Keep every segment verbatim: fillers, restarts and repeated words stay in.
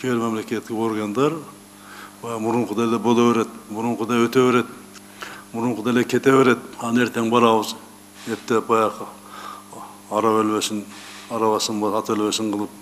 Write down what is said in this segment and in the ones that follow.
кээ бир мамлекеттик органдар мурункудай эле боло берет, мурункудай өтө берет, мурункудай эле кете берет, аны эртең барабыз эптеп баягы ара өлбөсүн, арабасын ата өлбөсүн кылып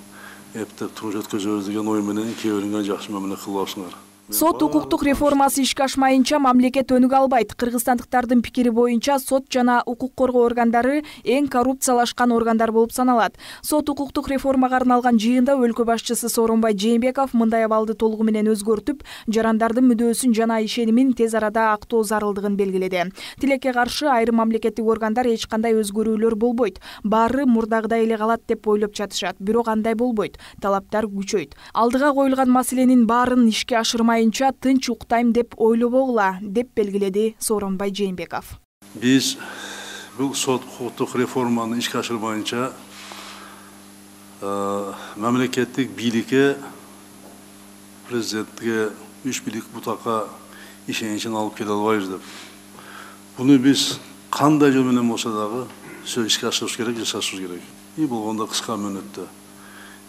эптеп туруш өткөзөбүз деген ой менен кээ бириңер жакшы мамиле кылбапсыңар. Сот укуктук реформасы ишке ашмайынча мамлекет өнүгө албайт. Кыргызстандыктардын пикири боюнча сот жана укук коргоо органдары эң коррупциялашкан органдар болуп саналат. Сот укуктук реформага арналган жыйында өлкө башчысы Сооронбай Жээнбеков мындай абалды толугу менен өзгөртүп, жарандардын мүдөөсүн жана ишенимин тез арада актоо зарылдыгын белгиледи. Тилекке каршы айрым мамлекеттик органдар эч кандай өзгөрүүлөр болбойт, баары мурдагыдай эле калат деп ойлоп жатышат. Бирок андай болбойт. Талаптар күчөйт. Алдыга коюлган маселенин баарын ишке ашырмай тынч уктайм деп ойлобогула, деп белгиледи Сооронбай Жээнбеков. Биз бул сот укуктук реформаны ишке ашырмайынча мамлекеттик бийликке, президентке, үч бийлик бутакка ишеничин алып келе албайбыз деп. Буну биз кандай жол менен болсо дагы сөз ишке ашырыш керек, жасашыбыз керек. И болгондо кыска мөөнөттө.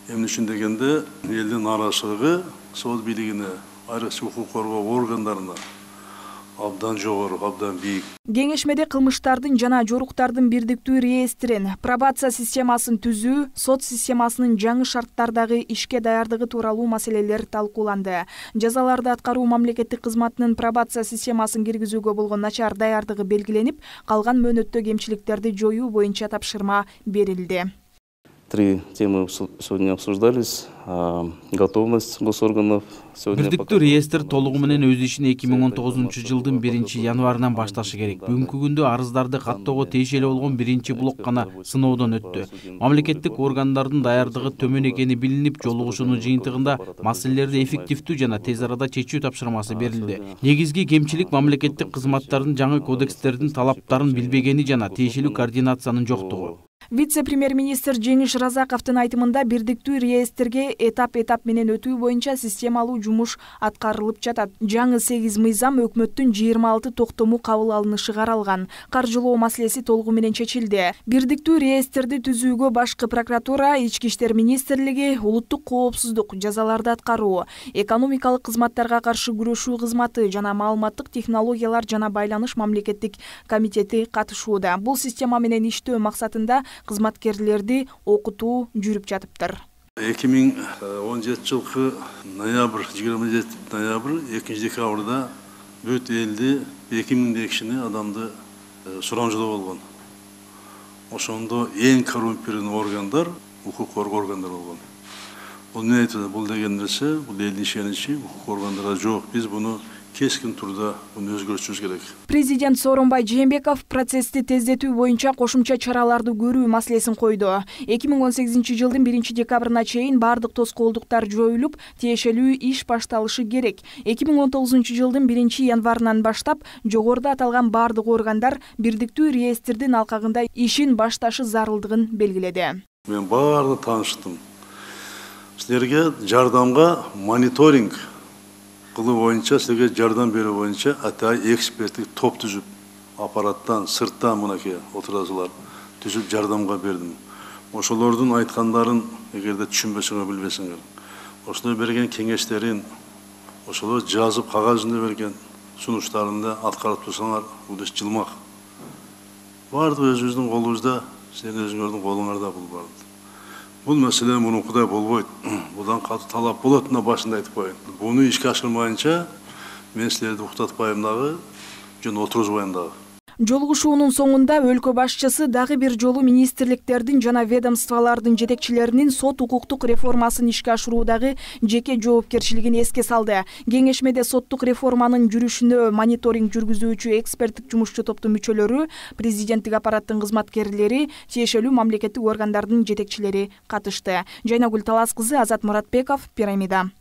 Эмне үчүн дегенде, элдин нааразычылыгы сот бийлигине, айрыкча укук коргоо органдарына абдан жогору, абдан бийик. Кеңешмеде кылмыштардын жана жоруктардын бирдиктүү реестрин, пробация системасын түзүү, сот системасынын жаңы шарттардагы ишке даярдыгы тууралуу маселелер талкууланды. Жазаларды аткаруу мамлекеттик кызматынын пробация системасын киргизүүгө болгон начар даярдыгы белгиленип, калган мөөнөттө кемчиликтерди жоюу боюнча тапшырма берилди. Три темы сегодня обсуждались. Готовность госорганов. Бирдиктүү реестр толугу менен өз ишин эки миң он тогузунчу жылдын биринчи январынан башташы керек. Бүгүнкү күндө арыздарды каттоого тиешелүү болгон биринчи блок гана сыноодон өттү. Мамлекеттик органдардын даярдыгы төмөн экени билинип, жолугушуунун жыйынтыгында маселелерди эффективдүү жана тез арада чечүү тапшырмасы берилди. Негизги кемчилик мамлекеттик кызматтардын жаңы кодекстердин талаптарын билбегени жана тиешелүү координациянын жоктугу. Вице-премьер-министр Жеңиш Разаковдун айтымында бирдиктүү реестрге этап-этап менен өтүү боюнча системалуу жумуш аткарылып жатат. Жаңы сегиз мыйзам өкмөттүн жыйырма алты токтому кабыл алынышы каралган. Каржылоо маселеси толугу менен чечилди. Бирдиктүү реестрди түзүүгө башкы прокуратура, ички иштер министрлиги, улуттук коопсуздук, жазаларды аткаруу, экономикалык кызматтарга каршы күрөшүү кызматы жана маалыматтык технологиялар жана байланыш мамлекеттик комитети катышууда. Бул система менен иштөө максатында кызматкерлерди окутуу жүрүп жатыптыр. эки миң он жетинчи жылкы ноябрь, жыйырма жети ноябрь, экинчи декабрда бүт элди эки миңдей кишини адамды сурамжылоо болгон. Ошондо эң коррумпированный органдар укук коргоо органдары болгон. Бул эмне айтат? Бул деген нерсе, бул элдин ишеничи укук органдарга жок. Биз буну кескин турда буну өзгөртүшүбүз керек. Президент Сооронбай Жээнбеков процессти тездетүү боюнча кошумча чараларды көрүү маселесин койду. эки миң он сегизинчи жылдын биринчи декабрына чейин бардык тоскоолдуктар жоюлуп, тиешелүү иш башталышы керек. эки миң он тогузунчу жылдын биринчи январынан баштап жогоруда аталган бардык органдар бирдиктүү реестрдин алкагында ишин башташы зарылдыгын белгиледи. Мен баардыгын тааныштым. Силерге жардамга мониторинг кылуу боюнча, силерге жардам берүү боюнча атай эксперттик топ түзүп, аппараттан, сырттан мынакей отурасылар түзүп жардамга бердим. Ошолордун айткандарын эгерде түшүнбөсөңөр, билбесеңер, ошолор берген кеңештерин, ошолор жазып кагаз жүзүндө берген сунуштарында аткарып турсаңар, бул иш жылмак. Бардыгы өзүбүздүн колубузда, силердин өзүңөрдүн колуңарда бул бар. Бул маселе мурункудай болбойт. Будан катуу талап болот, мына башында айтып коеюн. Буну ишке ашырмайынча мен силерди уктатпайм дагы, жөн отурузбайм дагы. Жолугушуунун соңунда өлкө башчысы дагы бир жолу министрликтердин жана ведомстволордун жетекчилеринин сот укуктук реформасын ишке ашыруудагы жеке жоопкерчилигин эске салды. Кеңешмеде соттук реформанын жүрүшүнө мониторинг жүргүзүүчү эксперттик жумушчу топтун мүчөлөрү, президенттик аппараттын кызматкерлери, тиешелүү мамлекеттик органдардын жетекчилери катышты. Жайнагүл Талас кызы, Азат Муратбеков, Пирамида.